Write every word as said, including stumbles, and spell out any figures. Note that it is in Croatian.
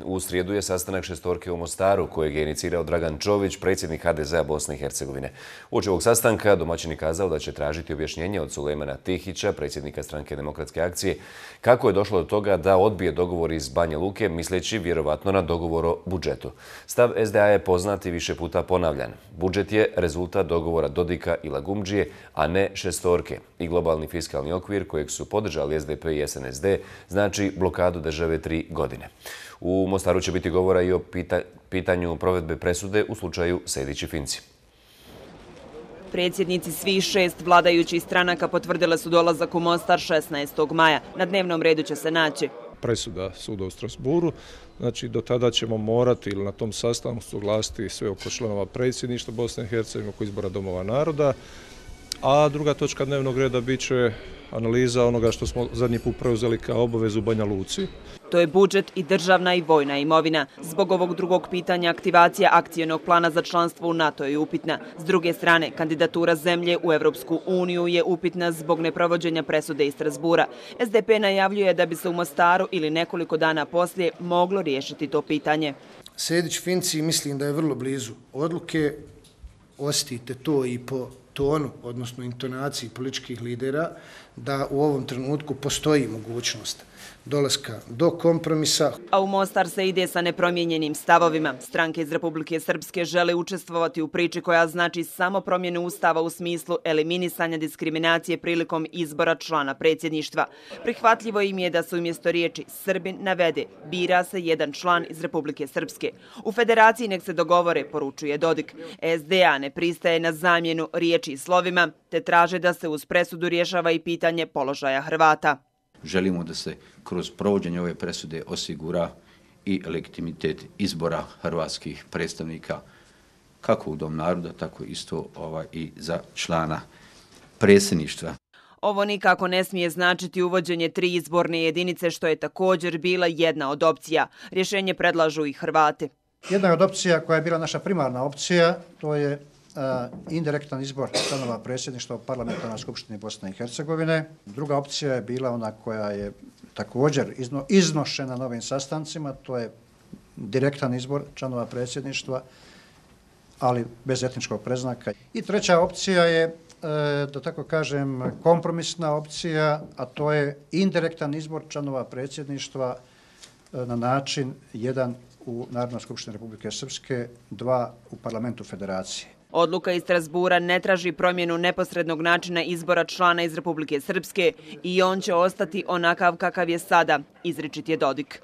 U srijedu je sastanak šestorke u Mostaru, kojeg je inicirao Dragan Čović, predsjednik H D Z-a Bosne i Hercegovine. Uoči ovog sastanka domaćin je kazao da će tražiti objašnjenje od Sulejmana Tihića, predsjednika Stranke demokratske akcije, kako je došlo do toga da odbije dogovor iz Banja Luke, misleći vjerovatno na dogovor o budžetu. Stav S D A je poznat i više puta ponavljan. Budžet je rezultat dogovora Dodika i Lagumdžije, a ne šestorke. I globalni fiskalni okvir kojeg su podržali S D P i S N S D znači blokadu države tri godine. U Mostaru će biti govora i o pita, pitanju provedbe presude u slučaju Sejdić i Finci. Predsjednici svih šest vladajućih stranaka potvrdile su dolazak u Mostar šesnaestog maja. Na dnevnom redu će se naći presuda suda u Strasburu. Znači, do tada ćemo morati ili na tom sastanku suglasiti sve oko članova predsjedništva Bosne i Hercegovine oko izbora domova naroda. A druga točka dnevnog reda bit će analiza onoga što smo zadnji put preuzeli kao obavezu u Banja Luci. To je budžet i državna i vojna imovina. Zbog ovog drugog pitanja aktivacija akcionog plana za članstvo u NATO je upitna. S druge strane, kandidatura zemlje u Evropsku uniju je upitna zbog neprovođenja presude iz Strasbura. S D P najavljuje da bi se u Mostaru ili nekoliko dana poslije moglo riješiti to pitanje. Sejdić-Finci mislim da je vrlo blizu odluke. Osjetite to i po tonu, odnosno intonaciji političkih lidera, da u ovom trenutku postoji mogućnost dolaska do kompromisa. A u Mostar se ide sa nepromijenjenim stavovima. Stranke iz Republike Srpske žele učestvovati u priči koja znači samo promjenu ustava u smislu eliminisanja diskriminacije prilikom izbora člana predsjedništva. Prihvatljivo im je da se umjesto riječi Srbin navede bira se jedan član iz Republike Srpske. U federaciji nek se dogovore, poručuje Dodik. S D A ne pristaje na zamjenu riječi i slovima, te traže da se uz presudu rješava i pitanje položaja Hrvata. Želimo da se kroz provođenje ove presude osigura i legitimitet izbora hrvatskih predstavnika kako u Dom naroda, tako isto ovaj, i za člana predsjedništva. Ovo nikako ne smije značiti uvođenje tri izborne jedinice, što je također bila jedna od opcija. Rješenje predlažu i Hrvati. Jedna od opcija koja je bila naša primarna opcija, to je indirektan izbor članova predsjedništva u Parlamentarnoj skupštini Bosne i Hercegovine. Druga opcija je bila ona koja je također izno, iznošena na ovim sastancima, to je direktan izbor članova predsjedništva, ali bez etničkog predznaka. I treća opcija je, da tako kažem, kompromisna opcija, a to je indirektan izbor članova predsjedništva na način jedan u Narodnoj skupštini Republike Srpske, dva u Parlamentu Federacije. Odluka iz Strasbura ne traži promjenu neposrednog načina izbora člana iz Republike Srpske i on će ostati onakav kakav je sada, izričit je Dodik.